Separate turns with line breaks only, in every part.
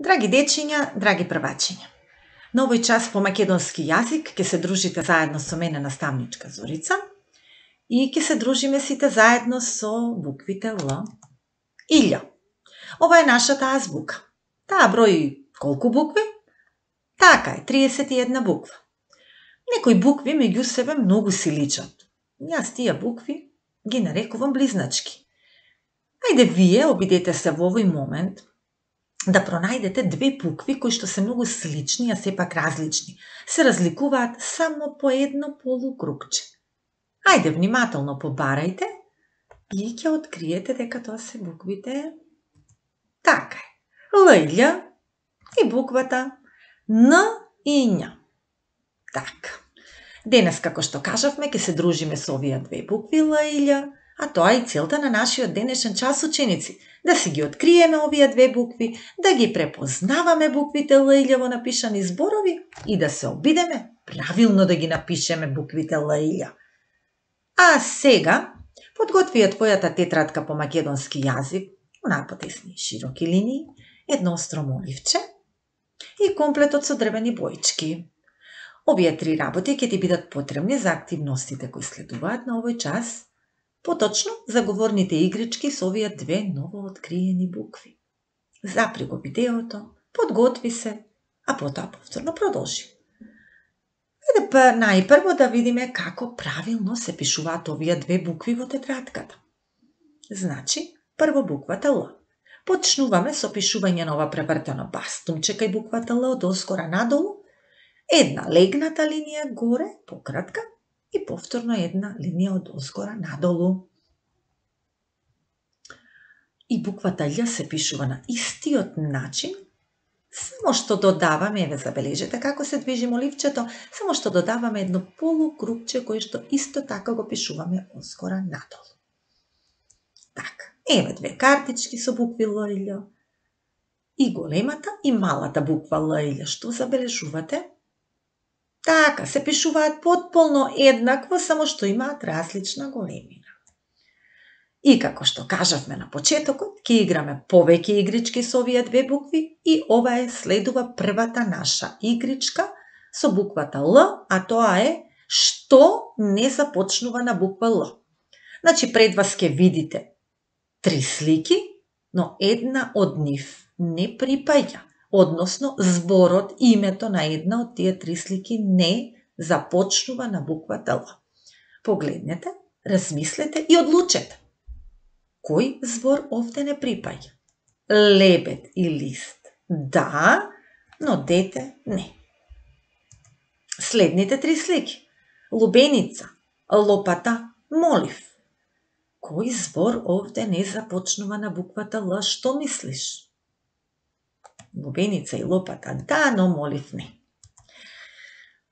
Драги дечиња, драги првачиња, на овој час по македонски јазик ќе се дружите заедно со мене наставничка Зорица и ќе се дружиме сите заедно со буквите Л и Љ. Ова е нашата азбука. Таа брои колку букви? Така е, 31 буква. Некои букви меѓу себе многу си личат. Јас тие букви ги нарекувам близначки. Ајде вие обидете се во овој момент да пронајдете две букви кои што се многу слични, а сепак различни. Се разликуваат само по едно полукрупче. Ајде внимателно побарајте и ќе откриете дека тоа се буквите така е. Л и Љ и буквата Н и Њ. Така. Денес, како што кажавме, ќе се дружиме со овие две букви Л и Љ, а тоа е целта на нашиот денешен час, ученици. Да си ги откриеме овие две букви, да ги препознаваме буквите Л и Љ во напишани зборови и да се обидеме правилно да ги напишеме буквите Л и Љ. А сега, подготви ја твојата тетрадка по македонски јазик, напотесни широки линии, едно остро моливче и комплетот со дрвени боички. Овие три работи ќе ти бидат потребни за активностите кои следуваат на овој час, поточно за говорните игрички со овие две новооткриени букви. Запри го видеото, подготви се, а потоа повторно продолжи. Ајде најпрво да видиме како правилно се пишуваат овие две букви во тетрадката. Значи, прво буквата Л. Почнуваме со пишување на ова превртено бастумче кај буквата Л од оскора надолу, една легната линија горе, пократка, и повторно една линија од озгора надолу. И буквата Љ се пишува на истиот начин, само што додаваме, еве забележете како се движи моливчето, само што додаваме едно полукрупче кое што исто така го пишуваме озгора надолу. Така, еве две картички со букви Л и Љ. И големата и малата буква Л и Љ. Што забележувате? Така, се пишуваат потполно еднакво, само што имаат различна големина. И како што кажавме на почетокот, ќе играме повеќе игрички со овие две букви и ова следува првата наша игричка со буквата Л, а тоа е што не започнува на буква Л. Значи, пред вас ќе видите три слики, но една од нив не припаѓа. Односно, зборот, името на една од тие три слики не започнува на буквата Л. Погледнете, размислете и одлучете. Кој збор овде не припаѓа? Лебед и лист. Да, но дете не. Следните три слики. Лубеница, лопата, молив. Кој збор овде не започнува на буквата Л? Што мислиш? Лубеница и лопата, да, но молив не.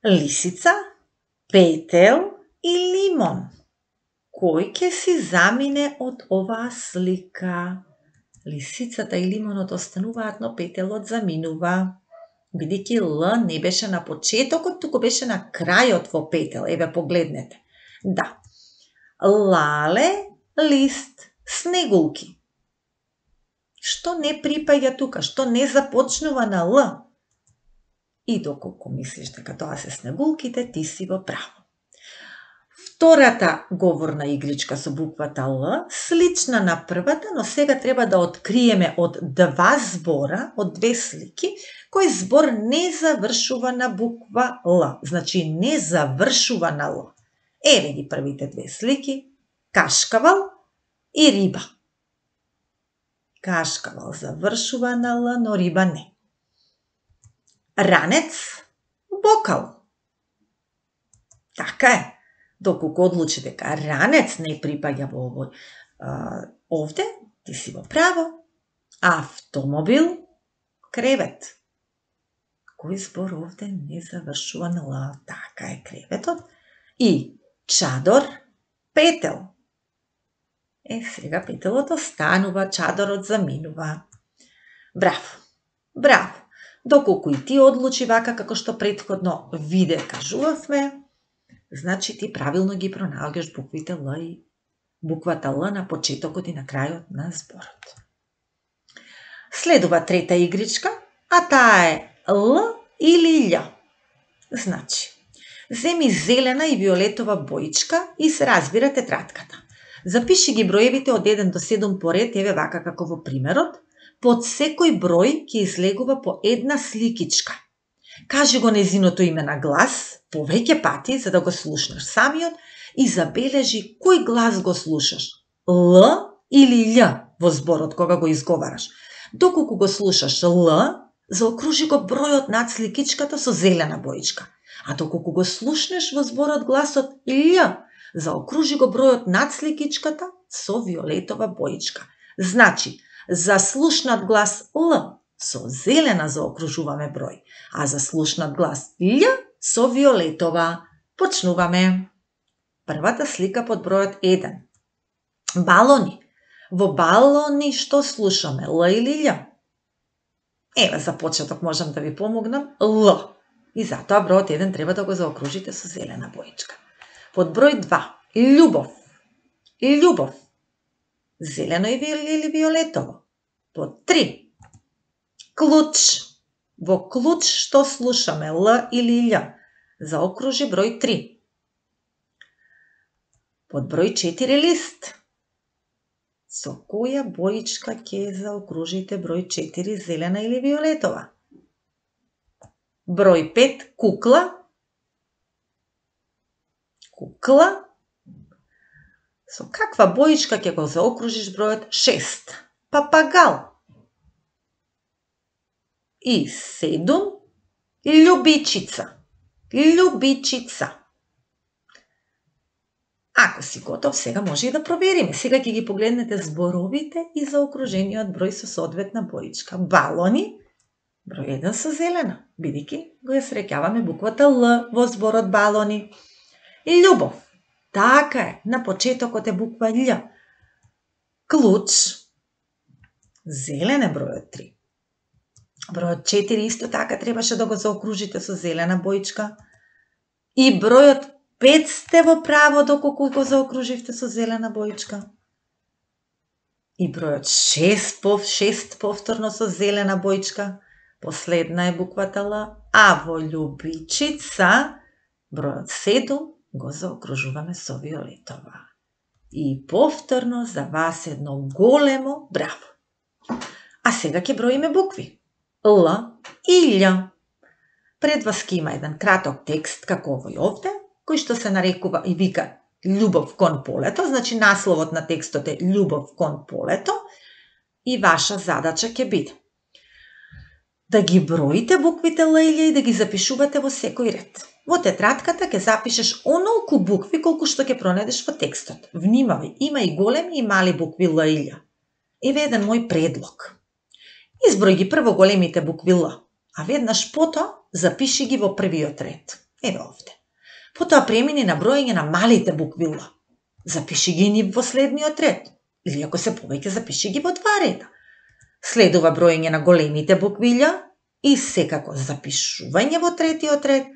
Лисица, петел и лимон. Кој ќе си замине од оваа слика? Лисицата и лимонот остануваат, но петелот заминува. Бидејќи Л не беше на почетокот, туку беше на крајот во петел. Еве погледнете. Да. Лале, лист, снегулки. Што не припаѓа тука? Што не започнува на Л? И доколку мислиш дека тоа се снегулките, ти си во право. Втората говорна игричка со буквата Л, слична на првата, но сега треба да откриеме од два збора, од две слики, кој збор не завршува на буква Л. Значи, не завршува на Л. Еве ги првите две слики. Кашкавал и риба. Кашкавал завршува на Л, но риба не. Ранец, бокал. Така е. Доколку одлучи дека ранец не припаѓа во овој овде, ти си во право. Автомобил, кревет. Кој збор овде не завршува на Л? Така е, креветот. И чадор, петел. Сега петелот останува, чадорот заминува. Браво, браво. Доколку и ти одлучи вака како што претходно виде кажувавме, значи ти правилно ги пронаоѓаш буквите Л и буквата Л на почетокот и на крајот на зборот. Следува трета игричка а таа е Л или Л. Значи, земи зелена и виолетова боичка и се разбира тетратката. Запиши ги броевите од 1 до 7 поред, еве вака како во примерот. Под секој број ќе излегува по една сликичка. Кажи го незиното име на глас, повеќе пати, за да го слушнеш самиот, и забележи кој глас го слушаш. Л или Л во зборот кога го изговараш. Доколку го слушаш Л, заокружи го бројот над сликичката со зелена боичка. А доколку го слушнеш во зборот гласот Л, заокружи го бројот над сликичката со виолетова боичка. Значи, за слушнат глас Л со зелена заокружуваме број, а за слушнат глас Л со виолетова. Почнуваме. Првата слика под бројот 1. Балони. Во балони што слушаме, Л или Л? Еве, за почеток можам да ви помогнам, Л. И затоа бројот 1 треба да го заокружите со зелена боичка. Под број 2. Љубов. Љубов. Зелено или виолетово. Под 3. Клуч. Во клуч што слушаме, Л или Л? Заокружи број 3. Под број 4. Лист. Со која боичка ќе заокружите број 4, зелена или виолетова? Број 5. Кукла. Кукла. Со каква боичка ќе го заокружиш бројот 6? Папагал. И 7. Љубичица. Љубичица. Ако си готов, сега може и да провериме. Сега ќе ги погледнете зборовите и заокружениот број со соодветна боичка. Балони, број 1 со зелена, бидејќи го ја среќаваме буквата Л во зборот балони. Љубов, така е, на почетокот е буква Л. Клуч, зелен е бројот 3. Бројот 4 исто така требаше да го заокружите со зелена боичка. И бројот 5 сте во право доколку го заокруживте со зелена боичка. И бројот 6 повторно со зелена боичка. Последна е буквата Л. А во љубичица бројот 7 го заокружуваме со виолетова. И повторно за вас едно големо браво. А сега ќе броиме букви. Л и Л. Пред вас ќе има еден краток текст како овој овде, кој што се нарекува и вика Љубов кон полето, значи насловот на текстот е Љубов кон полето, и ваша задача ќе биде да ги броите буквите Л и Л и да ги запишувате во секој ред. Во тетратката ќе запишеш онолку букви колку што ќе пронајдеш во текстот. Внимавај, има и големи и мали букви Л и Л. Еве еден мој предлог. Изброј ги прво големите букви Л, а веднаш потоа запиши ги во првиот ред. Еве овде. Потоа премини на броење на малите букви Л. Запиши ги ни во следниот ред. Или ако се повеќе, запиши ги во 2 реда. Следува броење на големите букви Л и секако запишување во третиот ред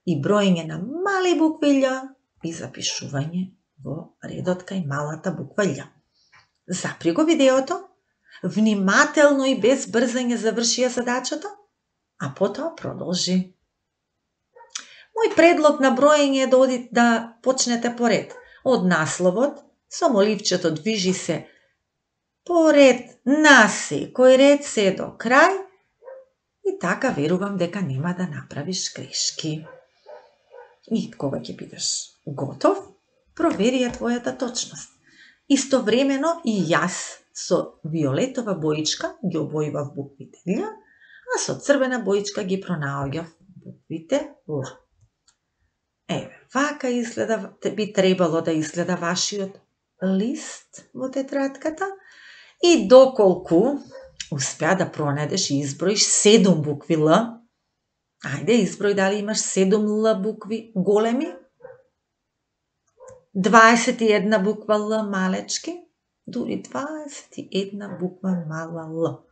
и броење на мали букви Л и запишување во редот кај малата буква Л. Запри го видеото, внимателно и без брзање заврши ја задачата, а потоа продолжи. Мој предлог на броење е да почнете поред. Од насловот, со моливчето движи се поред на секој ред се до крај и така верувам дека нема да направиш грешки. И кога ќе бидеш готов, провери ја твојата точност. Истовремено и јас со виолетова боичка ги обојував буквите Л, а со црвена боичка ги пронаоѓав буквите Л. Еве, вака изгледа, би требало да изгледа вашиот лист во тетратката и доколку успеа да пронајдеш и изброиш 7 букви Л, ајде изброј дали имаш 7 Л букви големи, 21 буква Л малечки, дури 21 буква мала Л.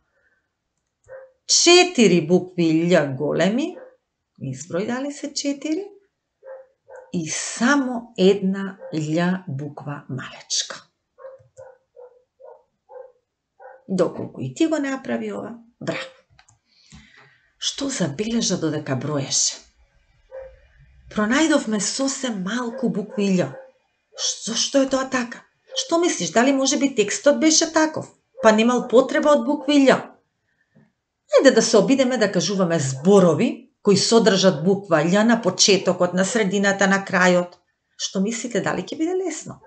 4 букви Л големи, изброј дали се 4, и само една Л буква малечка. Доколку и ти го направи ова, браво! што забележа додека броеше. Пронајдовме сосем малку букви Л. Зошто е тоа така? Што мислиш, дали може би текстот беше таков? Па немал потреба од букви Л. Ајде да се обидеме да кажуваме зборови кои содржат буква Л на почетокот, на средината, на крајот. Што мислите, дали ќе биде лесно?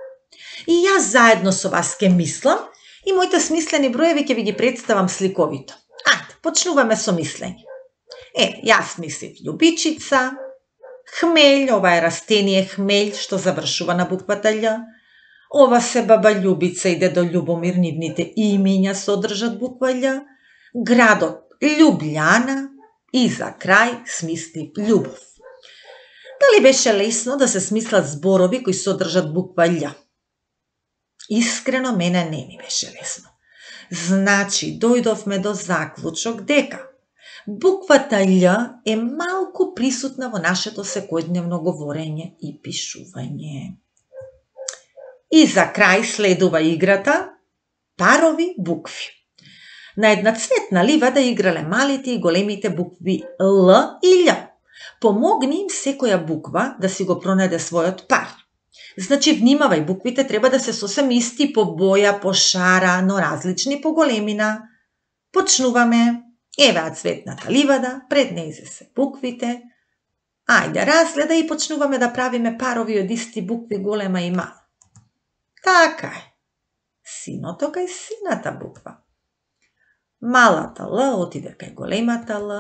И јас заедно со вас ќе мислам и моите смислени броеви ќе ви ги представам сликовито. Ајде, почнуваме со мислење. Јас мислив љубичица, хмелј, ова е растение хмелј што завршува на буквата Л. Ова се баба Љубица и дедо Љубомир, нивните имиња содржат буква Л. Градот Љубљана и за крај смислив љубов. Дали беше лесно да се смислат зборови кои содржат буква Л? Искрено, мене не ми беше лесно. Значи, дојдовме до заклучок дека буквата Л е малку присутна во нашето секојдневно говорење и пишување. И за крај следува играта парови букви. На една цветна ливада играле малите и големите букви Л и Љ. Помогни им секоја буква да си го пронајде својот пар. Значи, внимавај, буквите треба да се сосем исти по боја, по шара, но различни по големина. Почнуваме. Евеа цветната ливада, пред нејзе се буквите. Ајде, разгледа и почнуваме да правиме парови од исти букви, голема и мала. Така е. Синото кај сината буква. Малата Л отиде кај големата Л.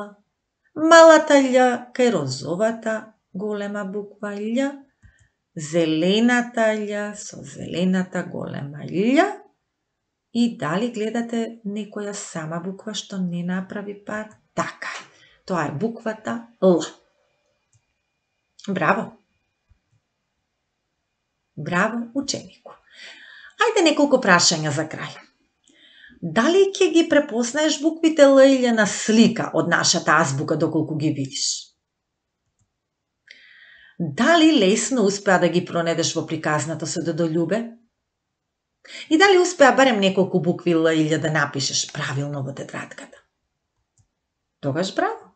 Малата Љ кај розовата голема буква Љ. Зелената Љ со зелената голема Љ. И дали гледате некоја сама буква што не направи пар? Така е. Тоа е буквата Л. Браво! Браво, ученику! Ајде неколку прашања за крај. Дали ќе ги препознаеш буквите Л или на слика од нашата азбука доколку ги видиш? Дали лесно успеа да ги пронедеш во приказната со дедо Љубе? И дали успеа барем неколку букви Л или да напишеш правилно во тетрадката? Тогаш браво!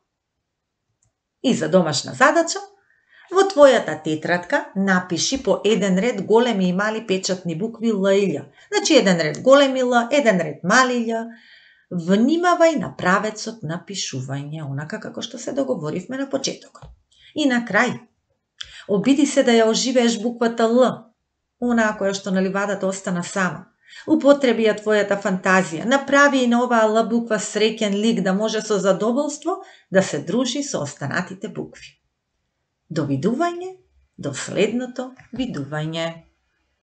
И за домашна задача, во твојата тетрадка напиши по еден ред големи и мали печатни букви Л и Љ. Значи еден ред големи Л, еден ред мали Љ. Внимавај на правецот на пишување, онака како што се договоривме на почетокот. И на крај, обиди се да ја оживееш буквата Л, онаа која што на ливадата остана сама. Употреби ја твојата фантазија, направи и на оваа Л буква среќен лик да може со задоволство да се дружи со останатите букви. До видување, до следното видување.